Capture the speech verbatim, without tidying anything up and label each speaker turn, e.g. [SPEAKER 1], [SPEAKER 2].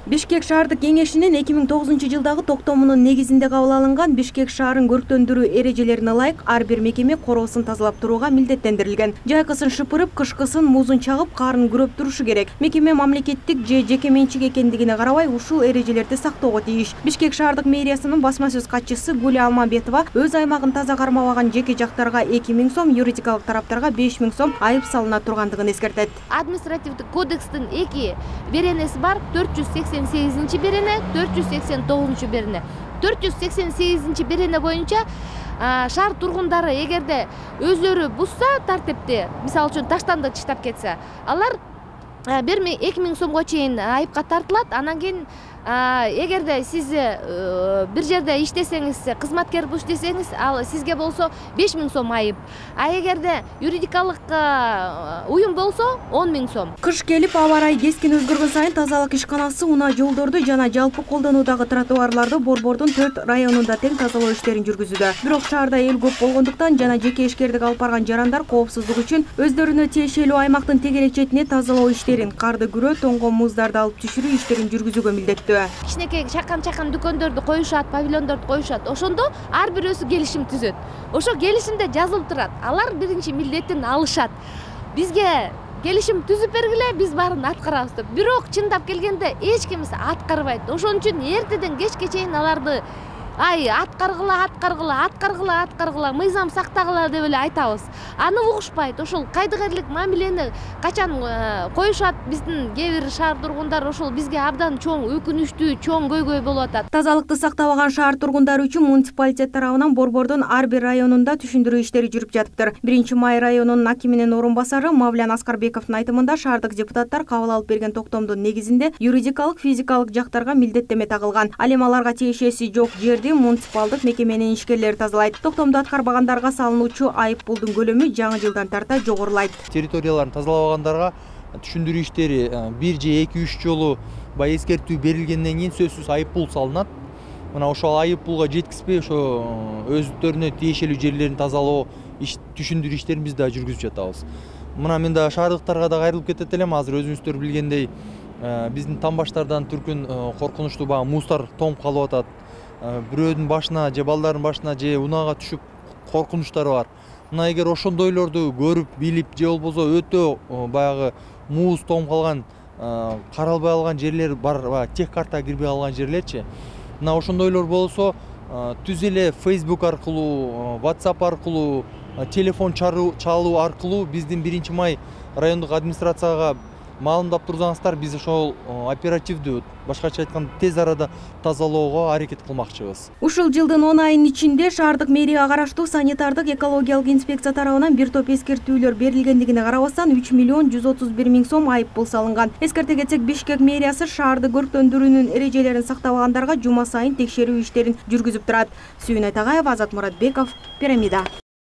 [SPEAKER 1] Бишкек шаардык кеңешинин эки миң тогузунчу жылдагы токтомунун негизинде кабыл алынган Бишкек шаарын көрктөндүрүү эрежелерине ылайык ар бир мекеме короосун тазалап турууга милдеттендирилген. Жайкысын шыпырып, кышкысын музун чагып, карын күрөп турушу керек. Мекеме мамлекеттик же жеке менчик экендигине карабай ушул эрежелерди сактоого тийиш. Бишкек шаардык мэриясынын басма сөз катчысы Гуля Алмамбетова өз аймагын таза кармабаган жеке жактарга эки миң сом, юридикалык тараптарга беш миң сом айып салына тургандыгын эскертет.
[SPEAKER 2] Административдик кодекстин эки беренеси бар, төрт жүз сексен сегизинчи берене, төрт жүз сексен тогузунчу берене. төрт жүз сексен сегизинчи берене боюнча шаар тургундары эгерде өздөрү бузса тартипти, мисалы үчүн таштандык чыштап кетсе, алар эки миң сомго чейин айыпка тартылат. Анан кийин эгерде сиз бир жерде иштесеңиз, кызматкер иштесеңиз, ал сизге болсо беш миң сом айып. А эгерде юридикалык уюм болсо он миң сом.
[SPEAKER 1] Кыш келип, аба ырайы кескин өзгөргөн сайын тазалык ишканасы унаа жолдорду жана жалпы колдонуудагы тротуарларды Борбордун төрт районунда тең тазалоо иштерин жүргүзүүдө. Бирок шаарда эл көп болгондуктан жана жеке ишкердик алып барган жарандар коопсуздук үчүн өздөрүнө тиешелүү аймактын тегерек четине тазалоо иштерин, карды күрөө, тоңгон муздарды алып түшүрүү иштерин жүргүзүүгө милдеттүү.
[SPEAKER 2] Кичинекей чакан-чакан дүкөндөрдү коюшат, павильондорду коюшат. Ошондо ар бирөөсү келишим түзөт. Ошо келишимде жазылып турат. Алар биринчи милдетин алышат. Бизге келишим түзүп бергиле, биз баарын аткарабыз деп. Бирок чындап келгенде эч кимиси аткарбайт. Ошон үчүн эртеден кечке чейин аларды ай аткаргыла, аткаргыла, аткаргыла, аткаргыла, мыйзам сактагыла деп эле айтабыз. Аны угушпайт. Ошол кайдыгерлик мамилени качан коюшат биздин кээ бир шаар тургундары, ошол бизге абдан чоң өкүнүчтүү, чоң көйгөй болуп атат.
[SPEAKER 1] Тазалыкты сактабаган шаар тургундары үчүн муниципалитет тарабынан Борбордун ар бир районунда түшүндүрүү иштери жүрүп жатыптыр. биринчи май районунун акиминин орун басары Мавлян Аскарбековдун айтымында шаардык депутаттар кабыл алып берген токтомдун негизинде юридикалык, физикалык жактарга милдеттеме тагылган. Ал эми аларга тиешеси жок жерди муниципалдык мекеменин ишкерлери тазалайт. Токтомду аткарбагандарга салынуучу айып пулдун көлөмү жаңы жылдан тарта жогорулайт.
[SPEAKER 3] Территорияларын тазалабагандарга түшүндүрүү иштери бир же эки үч жолу баягы эскертүү берилгенден кийин сөзсүз айып пул салынат. Мына ошол айып пулга жеткизбей ошо өздөрүнө тиешелүү жерлерин тазалоо түшүндүрүү иштерин биз да жүргүзүп жатабыз. Мына мен да шаардыктарга да кайрылып кетет элем. Азыр өзүңүздөр билгендей биздин тамбаштардан түркүн коркунучтуу баягы муздар тоңуп калып атат. Бирөөнүн башына же балдардын башына же унаага түшүп коркунучтары бар. Мына эгер ошондойлорду көрүп, билип же болбосо өтө баягы муз тоңуп калган, каралбай алган жерлер бар, баягы тех картага кирбей калган жерлерчи. Мына ошондойлор болсо түз эле Facebook аркылуу, WhatsApp аркылуу, телефон чалуу аркылуу биздин биринчи май райондук администрацияга маалымдап турсаңыздар, биз ошол оперативдүү, башкача айтканда тез арада тазалоого аракет кылмакчыбыз.
[SPEAKER 1] Ушул жылдын он айынын ичинде шаардык мэрияга караштуу санитардык экологиялык инспекция тарабынан бир топ эскертүүлөр берилгендигине карабастан үч миллион жүз отуз бир миң сом айып пул салынган. Эскерте кетсек, Бишкек мэриясы шаарды көрктөндүрүүнүн эрежелерин сактабагандарга жума сайын текшерүү иштерин жүргүзүп турат. Сүйүн Айтагаева, Азат Муратбеков, Пирамида.